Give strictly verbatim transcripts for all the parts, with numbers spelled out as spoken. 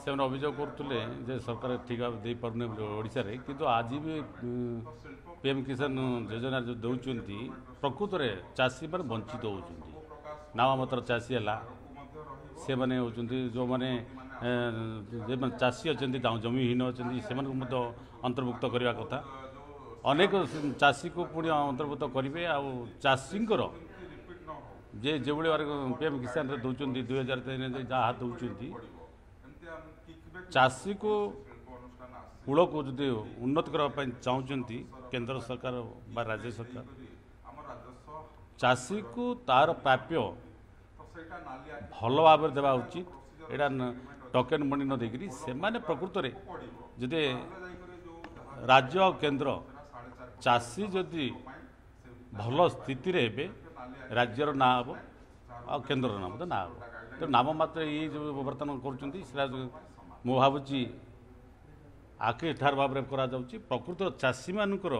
ସେମାନେ ଅଭିଯୋଗ କରୁଥିଲେ ଯେ ସରକାର ଠିକ୍ ଭାବେ ଦେଇପାରୁନି ବୋଲି ଓଡ଼ିଶାରେ, କିନ୍ତୁ ଆଜି ବି ପି ଏମ୍ କିଷାନ ଯୋଜନା ଯେଉଁ ଦେଉଛନ୍ତି ପ୍ରକୃତରେ ଚାଷୀମାନେ ବଞ୍ଚିତ ହେଉଛନ୍ତି। ନାମମାତ୍ର ଚାଷୀ ହେଲା ସେମାନେ ହେଉଛନ୍ତି ଯେଉଁମାନେ ଯେଉଁମାନେ ଚାଷୀ ଅଛନ୍ତି, ତାଙ୍କ ଜମିହୀନ ଅଛନ୍ତି, ସେମାନଙ୍କୁ ମଧ୍ୟ ଅନ୍ତର୍ଭୁକ୍ତ କରିବା କଥା। ଅନେକ ଚାଷୀକୁ ପୁଣି ଅନ୍ତର୍ଭୁକ୍ତ କରିବେ। ଆଉ ଚାଷୀଙ୍କର ଯେ ଯେଭଳି ଭାବରେ ପି ଏମ୍ କିଷାନରେ ଦେଉଛନ୍ତି ଦୁଇ ହଜାର ତିନି ହଜାର ଯାହା ଦେଉଛନ୍ତି, ଚାଷୀକୁ କୂଳକୁ ଯଦି ଉନ୍ନତି କରିବା ପାଇଁ ଚାହୁଁଛନ୍ତି କେନ୍ଦ୍ର ସରକାର ବା ରାଜ୍ୟ ସରକାର, ଚାଷୀକୁ ତାର ପ୍ରାପ୍ୟ ଭଲ ଭାବରେ ଦେବା ଉଚିତ। ଏଇଟା ଟୋକେନ୍ ମନି ନ ଦେଇକରି ସେମାନେ ପ୍ରକୃତରେ ଯଦି ରାଜ୍ୟ ଆଉ କେନ୍ଦ୍ର ଚାଷୀ ଯଦି ଭଲ ସ୍ଥିତିରେ ହେବେ ରାଜ୍ୟର ନାଁ ହେବ ଆଉ କେନ୍ଦ୍ରର ନାଁ ମଧ୍ୟ ନାଁ ହେବ। ତେଣୁ ନାମ ମାତ୍ର ଏଇ ଯେଉଁ ବର୍ତ୍ତମାନ କରୁଛନ୍ତି ସେଟା ମୁଁ ଭାବୁଛି ଆଖି ଠାର ଭାବରେ କରାଯାଉଛି। ପ୍ରକୃତ ଚାଷୀମାନଙ୍କର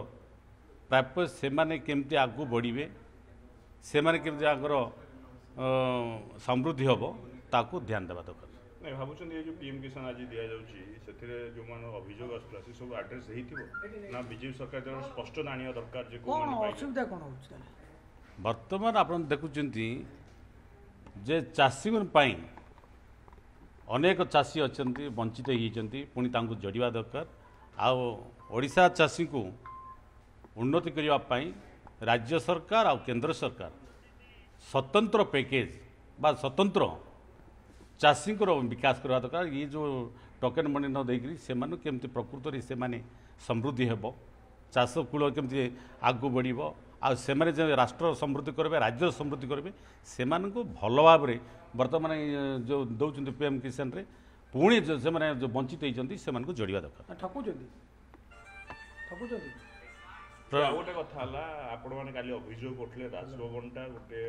ପ୍ରାପ୍ୟ ସେମାନେ କେମିତି ଆଗକୁ ବଢ଼ିବେ, ସେମାନେ କେମିତି ଆଗର ସମୃଦ୍ଧି ହେବ ତାକୁ ଧ୍ୟାନ ଦେବା ଦରକାର। ନାଇଁ ଭାବୁଛନ୍ତି ଏ ଯେଉଁ ପି ଏମ୍ କିଷାନ ଆଜି ଦିଆଯାଉଛି ସେଥିରେ ଯେଉଁମାନେ ଅଭିଯୋଗ ଆସୁଥିଲା ସେ ସବୁ ଆଡ୍ରେସ୍ ହେଇଥିବ ନା ବିଜେପି ସରକାର ଦ୍ୱାରା ସ୍ପଷ୍ଟ ଜାଣିବା ଦରକାର ଯେ କ'ଣ ଅସୁବିଧା କ'ଣ ହେଉଛି? ବର୍ତ୍ତମାନ ଆପଣ ଦେଖୁଛନ୍ତି ଯେ ଚାଷୀଙ୍କ ପାଇଁ ଅନେକ ଚାଷୀ ଅଛନ୍ତି ବଞ୍ଚିତ ହେଇଯାଇଛନ୍ତି, ପୁଣି ତାଙ୍କୁ ଯୋଡ଼ିବା ଦରକାର। ଆଉ ଓଡ଼ିଶା ଚାଷୀଙ୍କୁ ଉନ୍ନତି କରିବା ପାଇଁ ରାଜ୍ୟ ସରକାର ଆଉ କେନ୍ଦ୍ର ସରକାର ସ୍ୱତନ୍ତ୍ର ପ୍ୟାକେଜ୍ ବା ସ୍ୱତନ୍ତ୍ର ଚାଷୀଙ୍କର ବିକାଶ କରିବା ଦରକାର। ଇଏ ଯେଉଁ ଟୋକେନ୍ ମନି ନ ଦେଇକରି ସେମାନଙ୍କୁ କେମିତି ପ୍ରକୃତରେ ସେମାନେ ସମୃଦ୍ଧି ହେବ, ଚାଷ କୂଳ କେମିତି ଆଗକୁ ବଢ଼ିବ, ଆଉ ସେମାନେ ଯେ ରାଷ୍ଟ୍ର ସମୃଦ୍ଧି କରିବେ, ରାଜ୍ୟର ସମୃଦ୍ଧି କରିବେ, ସେମାନଙ୍କୁ ଭଲ ଭାବରେ ବର୍ତ୍ତମାନ ଯେଉଁ ଦେଉଛନ୍ତି ପି ଏମ୍ କିଷାନରେ ପୁଣି ସେମାନେ ଯେଉଁ ବଞ୍ଚିତ ହେଇଛନ୍ତି ସେମାନଙ୍କୁ ଯୋଡ଼ିବା ଦରକାର। ଠକୁଛନ୍ତି ଠକୁଛନ୍ତି। ଆଉ ଗୋଟେ କଥା ହେଲା, ଆପଣମାନେ କାଲି ଅଭିଯୋଗ କରୁଥିଲେ ରାଜଭବନଟା ଗୋଟେ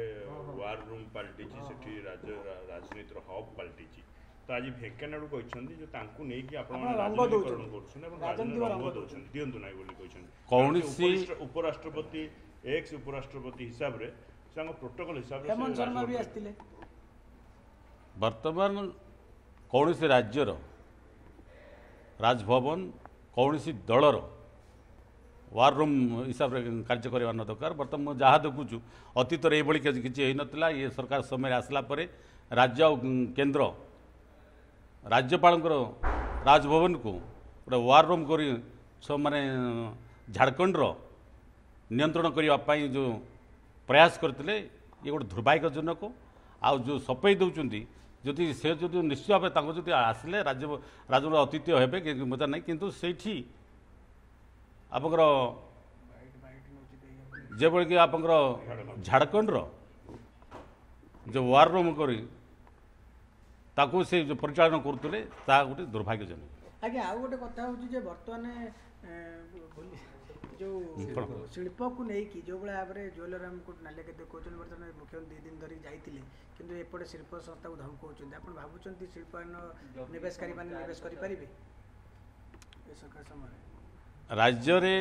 ୱାର୍ ରୁମ୍ ପାଲଟିଛି, ସେଠି ରାଜ୍ୟ ରାଜନୀତିର ହବ୍ ପାଲଟିଛି। ତ ଆଜି ଭେଙ୍କୟା ନାଇଡୁ କହିଛନ୍ତି ଯେ ତାଙ୍କୁ ନେଇକି ଆପଣମାନେ ରାଜନୀତିକରଣ କରୁଛନ୍ତି ଏବଂ ରାଜନୀତି ରଙ୍ଗ ଦେଉଛନ୍ତି, ଦିଅନ୍ତୁ ନାହିଁ ବୋଲି କହିଛନ୍ତି। କୌଣସି ଉପରାଷ୍ଟ୍ରପତି ଏକ୍ସ ଉପରାଷ୍ଟ୍ରପତି ହିସାବରେ ତାଙ୍କ ପ୍ରୋଟୋକଲ ହିସାବରେ ହେମନ୍ତ ଶର୍ମା ବି ଆସିଥିଲେ। ବର୍ତ୍ତମାନ କୌଣସି ରାଜ୍ୟର ରାଜଭବନ କୌଣସି ଦଳର ୱାର୍ ରୁମ୍ ହିସାବରେ କାର୍ଯ୍ୟ କରିବା ନ ଦରକାର। ବର୍ତ୍ତମାନ ମୁଁ ଯାହା ଦେଖୁଛୁ ଅତୀତରେ ଏଇଭଳି କିଛି ହେଇନଥିଲା। ଇଏ ସରକାର ସମୟରେ ଆସିଲା ପରେ ରାଜ୍ୟ ଆଉ କେନ୍ଦ୍ର ରାଜ୍ୟପାଳଙ୍କର ରାଜଭବନକୁ ଗୋଟେ ୱାର୍ ରୁମ୍ କରି ମାନେ ଝାଡ଼ଖଣ୍ଡର ନିୟନ୍ତ୍ରଣ କରିବା ପାଇଁ ଯେଉଁ ପ୍ରୟାସ କରିଥିଲେ ଇଏ ଗୋଟେ ଦୁର୍ଭାଗ୍ୟଜନକ। ଆଉ ଯେଉଁ ସଫେଇ ଦେଉଛନ୍ତି ଯଦି ସେ ଯଦି ନିଶ୍ଚୟ ଭାବେ ତାଙ୍କୁ ଯଦି ଆସିଲେ ରାଜ୍ୟ ରାଜ୍ୟର ଅତିଥି ହେବେ ମଜା ନାହିଁ, କିନ୍ତୁ ସେଇଠି ଆପଣଙ୍କର ଯେଭଳିକି ଆପଣଙ୍କର ଝାଡ଼ଖଣ୍ଡର ଯେଉଁ ୱାର୍ ରୁମ୍ କରି ତାକୁ ସେ ଯେଉଁ ପରିଚାଳନା କରୁଥିଲେ ତାହା ଗୋଟେ ଦୁର୍ଭାଗ୍ୟଜନକ। ଆଜ୍ଞା, ଆଉ ଗୋଟେ କଥା ହେଉଛି ଯେ ବର୍ତ୍ତମାନ ଯେଉଁ ଶିଳ୍ପକୁ ନେଇକି ଯେଉଁଭଳି ଭାବରେ ଜୁଏଲରାମକୁ ନାଲିଆଖି ଦେଖାଉଛନ୍ତି, ବର୍ତ୍ତମାନ ମୁଖ୍ୟମନ୍ତ୍ରୀ ଦୁଇ ଦିନ ଧରିକି ଯାଇଥିଲେ, କିନ୍ତୁ ଏପଟେ ଶିଳ୍ପ ସଂସ୍ଥାକୁ ଧମକଉଛନ୍ତି। ଆପଣ ଭାବୁଛନ୍ତି ଶିଳ୍ପାୟନ ନିବେଶକାରୀମାନେ ନିବେଶ କରିପାରିବେ ଏ ସରକାର ସମୟରେ? ରାଜ୍ୟରେ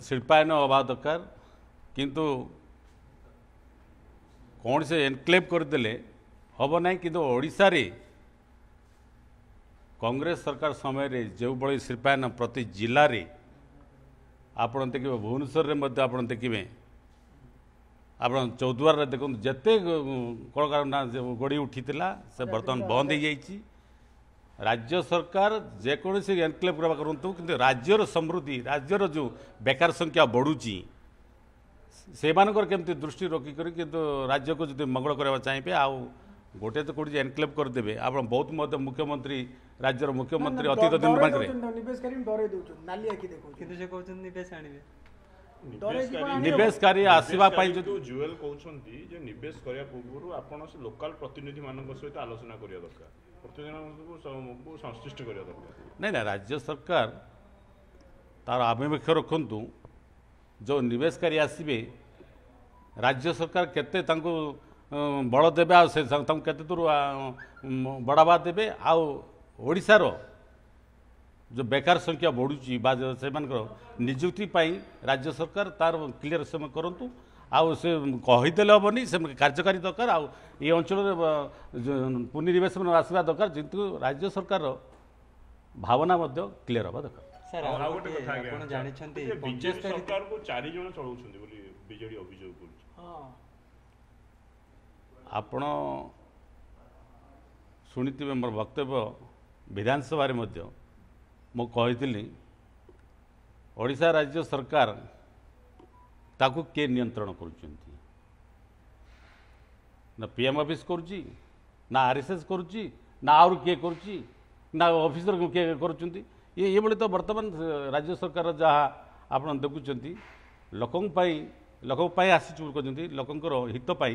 ଶିଳ୍ପାୟନ ହେବା ଦରକାର, କିନ୍ତୁ କୌଣସି ଏନକ୍ଲେଭ୍ କରିଦେଲେ ହେବ ନାହିଁ। କିନ୍ତୁ ଓଡ଼ିଶାରେ କଂଗ୍ରେସ ସରକାର ସମୟରେ ଯେଉଁଭଳି ଶିଳ୍ପାୟନ ପ୍ରତି ଜିଲ୍ଲାରେ ଆପଣ ଦେଖିବେ, ଭୁବନେଶ୍ୱରରେ ମଧ୍ୟ ଆପଣ ଦେଖିବେ, ଆପଣ ଚୌଦ୍ୱାରରେ ଦେଖନ୍ତୁ, ଯେତେ କଳକାରଖାନା ଗଢ଼ି ଉଠିଥିଲା ସେ ବର୍ତ୍ତମାନ ବନ୍ଦ ହେଇଯାଇଛି। ରାଜ୍ୟ ସରକାର ଯେକୌଣସି ଏନକ୍ଲେଭ୍ କରିବା କରନ୍ତୁ, କିନ୍ତୁ ରାଜ୍ୟର ସମୃଦ୍ଧି, ରାଜ୍ୟର ଯେଉଁ ବେକାର ସଂଖ୍ୟା ବଢ଼ୁଛି ସେମାନଙ୍କର କେମିତି ଦୃଷ୍ଟି ରଖିକରି କିନ୍ତୁ ରାଜ୍ୟକୁ ଯଦି ମଙ୍ଗଳ କରିବାକୁ ଚାହିଁବେ, ଆଉ ଗୋଟେ ତ କେଉଁଠି ଏନକ୍ଲେଭ୍ କରିଦେବେ। ଆପଣ ବହୁତ ମଧ୍ୟ ମୁଖ୍ୟମନ୍ତ୍ରୀ ରାଜ୍ୟର ମୁଖ୍ୟମନ୍ତ୍ରୀ ଅତୀତ ଦିନମାନଙ୍କରେ ନିବେଶକାରୀ ଆସିବା ପାଇଁ ଯଦି ଜୁଏଲ କହୁଛନ୍ତି ଯେ ନିବେଶ କରିବା ପୂର୍ବରୁ ଆପଣ ସେ ଲୋକାଲ ପ୍ରତିନିଧିମାନଙ୍କ ସହିତ ଆଲୋଚନା କରିବା ଦରକାର, ପ୍ରତିନିଧିମାନଙ୍କୁ ସଂଶ୍ଳିଷ୍ଟ କରିବା ଦରକାର। ନାଇଁ ନା, ରାଜ୍ୟ ସରକାର ତାର ଆଭିମୁଖ୍ୟ ରଖନ୍ତୁ। ଯେଉଁ ନିବେଶକାରୀ ଆସିବେ ରାଜ୍ୟ ସରକାର କେତେ ତାଙ୍କୁ ବଳ ଦେବେ, ଆଉ ସେ ତାଙ୍କୁ କେତେ ଦୂର ବଢ଼ାବା ଦେବେ, ଆଉ ଓଡ଼ିଶାର ଯେଉଁ ବେକାର ସଂଖ୍ୟା ବଢ଼ୁଛି ବା ସେମାନଙ୍କର ନିଯୁକ୍ତି ପାଇଁ ରାଜ୍ୟ ସରକାର ତାର କ୍ଲିୟର ସେମାନେ କରନ୍ତୁ। ଆଉ ସେ କହିଦେଲେ ହେବନି, ସେ କାର୍ଯ୍ୟକାରୀ ଦରକାର। ଆଉ ଏ ଅଞ୍ଚଳରେ ପୁଞ୍ଜିନିବେଶ ଆସିବା ଦରକାର, ଯେହେତୁ ରାଜ୍ୟ ସରକାରର ଭାବନା ମଧ୍ୟ କ୍ଲିୟର ହେବା ଦରକାର। ସାର୍, ଆଉ ଆଉ ଆଉ ଗୋଟେ ଗୋଟିଏ କଥା ଆଜ୍ଞା, ଆପଣ ଜାଣିଛନ୍ତି ଯେ ବିଜେପି ପଞ୍ଚସ୍ତରୀ ସରକାରକୁ ଚାରି ଜଣ ଚଳଉଛନ୍ତି ବୋଲି ବିଜେଡି ଅଭିଯୋଗ କରୁଛି। ହଁ, ଆପଣ ଶୁଣିଥିବେ ମୋର ବକ୍ତବ୍ୟ, ବିଧାନସଭାରେ ମଧ୍ୟ ମୁଁ କହିଥିଲି, ଓଡ଼ିଶା ରାଜ୍ୟ ସରକାର ତାକୁ କିଏ ନିୟନ୍ତ୍ରଣ କରୁଛନ୍ତି? ନା ପି ଏମ୍ ଅଫିସ୍ କରୁଛି, ନା ଆର୍ ଏସ୍ ଏସ୍ କରୁଛି, ନା ଆହୁରି କିଏ କରୁଛି, ନା ଅଫିସର କିଏ କରୁଛନ୍ତି? ଇଏ ଏଇଭଳି ତ ବର୍ତ୍ତମାନ ରାଜ୍ୟ ସରକାର ଯାହା ଆପଣ ଦେଖୁଛନ୍ତି, ଲୋକଙ୍କ ପାଇଁ, ଲୋକଙ୍କ ପାଇଁ ଆସିଛୁ ବୋଲି କହୁଛନ୍ତି, ଲୋକଙ୍କର ହିତ ପାଇଁ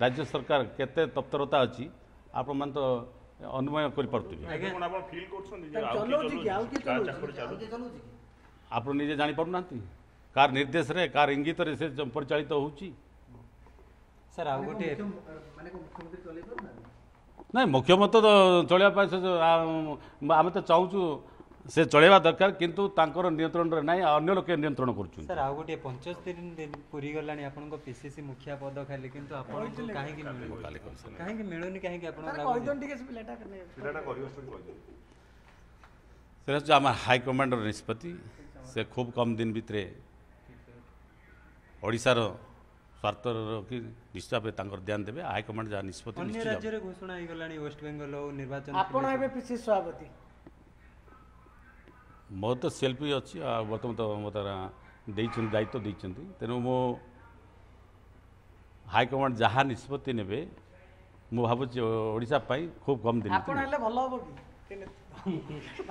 ରାଜ୍ୟ ସରକାର କେତେ ତତ୍ପରତା ଅଛି ଆପଣମାନେ ତ ଅନୁମୟ କରିପାରୁଥିବେ। ଏବେ କଣ ଆପଣ ଫିଲ୍ କରୁଛନ୍ତି ଯେ ତାକୁ ଆଉ କିଏ ଚଲଉଛି କି? ଆଉ କିଏ ଚଲଉଛି? କାହା ଚଲଉଛି? ଚାପରେ ଚାଲୁଛି? ଆପଣ ନିଜେ ଜାଣିପାରୁନାହାନ୍ତି କାହାର ନିର୍ଦ୍ଦେଶରେ, କାହାର ଇଙ୍ଗିତରେ ସେ ପରିଚାଳିତ ହେଉଛି? ସାର୍, ଆଉ ଗୋଟିଏ ମାନେ କଣ ମୁଖ୍ୟମନ୍ତ୍ରୀ ଚଲେଇ ପାରୁନାହାନ୍ତି? ନାଇଁ, ମୁଖ୍ୟମନ୍ତ୍ରୀ ତ ଚଳେଇବା ପାଇଁ ସେ ଯୋଉ, ଆ- ଆମେ ତ ଚାହୁଁଛୁ ସେ ଚଳେଇବା ଦରକାର, କିନ୍ତୁ ତାଙ୍କର ନିୟନ୍ତ୍ରଣରେ ନାହିଁ, ଅନ୍ୟ ଲୋକେ ନିୟନ୍ତ୍ରଣ କରୁଛନ୍ତି। ସାର୍, ଆଉ ଗୋଟିଏ, ପଞ୍ଚସ୍ତରୀ ଦିନ ପୁରି ଗଲାଣି ଆପଣଙ୍କ ପିସିସି ମୁଖିଆ ପଦ ଖାଲି, କିନ୍ତୁ ଆପଣଙ୍କୁ କାହିଁକି ମିଳୁନି? କାଲି କହିସାରିଲେ। କାହିଁକି ମିଳୁନି, କାହିଁକି ଆପଣଙ୍କୁ ତାର ଲାଗୁଛି? କହିଦିଅନ୍ତୁ ଟିକେ, ସେ ପିଲାଟା ପିଲାଟା କରିବ ଷ୍ଟୋରି କହିଦିଅନ୍ତୁ। ସେଟା ହେଉଛି ଆମ ହାଇକମାଣ୍ଡର ନିଷ୍ପତ୍ତି। ସେ ଖୁବ୍ କମ୍ ଦିନ ଭିତରେ ଓଡ଼ିଶାର ସ୍ୱାର୍ଥ ରଖି ନିଶ୍ଚିତ ଭାବେ ତାଙ୍କର ଧ୍ୟାନ ଦେବେ। ହାଇକମାଣ୍ଡ ଯାହା ନିଷ୍ପତ୍ତି ଅନ୍ୟ ନିଶ୍ଚିତ ଭାବେ। ରାଜ୍ୟରେ ଘୋଷଣା ହେଇଗଲାଣି, ୱେଷ୍ଟବେଙ୍ଗଲ ହଉ ନିର୍ବାଚନ ଆପଣ ଥିଲେ ଏବେ ପିସିସି ସଭାପତି। ମୋର ତ ସେଲ୍ଫି ଅଛି, ଆଉ ବର୍ତ୍ତମାନ ତ ମୋତେ ଦେଇଛନ୍ତି, ଦାୟିତ୍ୱ ଦେଇଛନ୍ତି। ତେଣୁ ମୁଁ ହାଇକମାଣ୍ଡ ଯାହା ନିଷ୍ପତ୍ତି ନେବେ, ମୁଁ ଭାବୁଛି ଓଡ଼ିଶା ପାଇଁ ଖୁବ୍ କମ୍ ଦିନ ଆପଣ ଭିତରେ ହେଲେ ଭଲ ହବ କି?